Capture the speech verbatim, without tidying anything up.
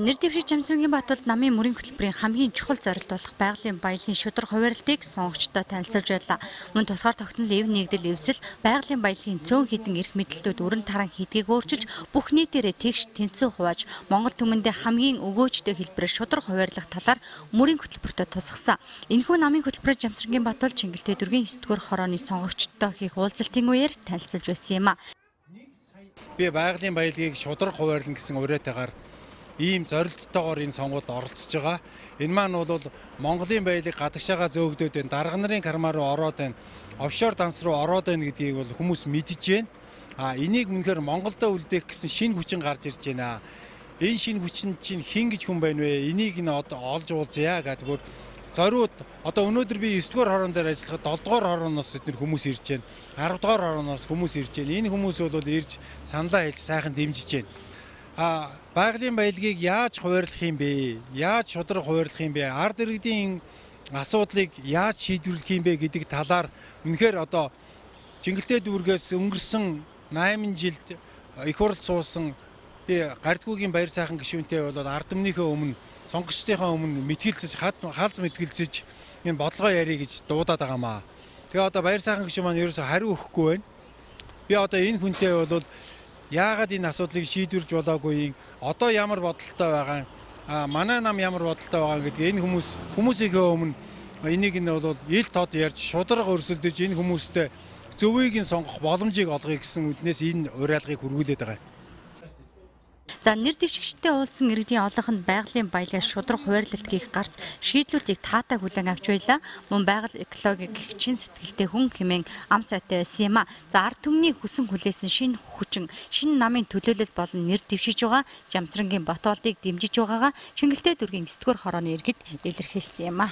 нэр дэвшиг Жамсрангийн Батболд намын мөрийн хөтөлбөрийн хамгийн чухал зорилт болох байгалийн баялагын шударга хуваарлтыг сонгогчдод танилцуулж байлаа. Мөн тусгаар тогтнол эв нэгдэл эвсэл байгалийн баялагын цөөн хідэн эрх мэдэлтүүд өрн таран хэдгийг өөрчилж бүх нийтээрээ тэгш тэнцэн хувааж Монгол түмэндээ хамгийн өгөөжтэй хэлбэрээр шударга хуваарлах талаар мөрийн хөтөлбөртөд тусгасан. Энэхүү намын хөтөлбөрөөр Жамсрангийн Батболд Чингэлтэй дүүргийн9 дугаар хорооны сонгогчдод хийх уулзалтын үеэр танилцуулж байсан юм а. Би байгалийн баялагийг шударга хуваарлна гэсэн уриатайгаар ийм зорилттойгоор энэ сонгуульд оролцож байгаа. Энэ маань бол Монголын баялаг гадагшаага зөөгдөд байна. Дарга нарын кармаа руу ороод байна. Офшор данс руу ороод байна гэдгийг бол хүмүүс мэдж байна. А энийг үнэхээр Монголдо үлдээх гэсэн шинэ хүчин гарч ирж байна. Энэ шинэ хүчин чинь хэн гэж хүн байна вэ? Энийг нь одоо олж уулзъя гэдэг бүр зориуд одоо өнөөдөр би девять дугаар хорон дээр ажиллахад долоо дугаар хорооноос эдгээр хүмүүс ирж байна. арав дугаар хорооноос хүмүүс ирж байна. Энэ хүмүүс бол ирж саналаа хэлж сайхан дэмжиж байна. А байгалийн баялагийг яаж хуваарлах юм бэ? Яаж шударга хуваарлах юм бэ? Ард иргэдийн асуудлыг яаж шийдвэрлэх юм бэ гэдэг талаар үнэхээр одоо Чингэлтэй дүүргээс өнгөрсөн найман жилд их хурл суусан би Гардгүйгийн баяр сайхан гишүүнтэй болоод ард түмнийхээ өмнө сонгогчдынхаа өмнө мэтгэлцэж хаалц мэтгэлцэж энэ бодлогоо ярих гэж дуудаад байгаамаа. Тэгээ одоо баяр сайхан гишүүн маань ерөөсө хариу өгөхгүй байна. Би одоо энэ хүнтэй бол яагаад энэ асуудлыг шийдвэрж болоогүй, одоо ямар бодолтой байгаа, а манай нам ямар бодолтой байгаа гэдгийг энэ хүмүүс хүмүүсийнхээ өмнө энийг нь бол ил тод ярьж шударга өрсөлдөж энэ хүмүүстэй зөвийг нь сонгох боломжийг олгоё гэсэн үднээс энэ уриалгыг хүргүүлээд байгаа. За нэр дэвшигчтэй уулзсан иргэдийн олонх нь байгалийн баялагаас шударга хуваарлалт хийх гарц шийдлүүдийг таатай хүлээн авч байлаа. Мөн байгаль экологийг чин сэтгэлтэй хүн хэмээн ам сайтай байсан юм а. За ард түмний хүсэн хүлээсэн шинэ хүчин, шинэ намын төлөөлөл болон нэр дэвшиж байгаа Жамсрангийн Батболдыг дэмжиж байгаагаа Чингэлтэй дүүргийн9 дугаар хорооны иргэд илэрхийлсэн юм а.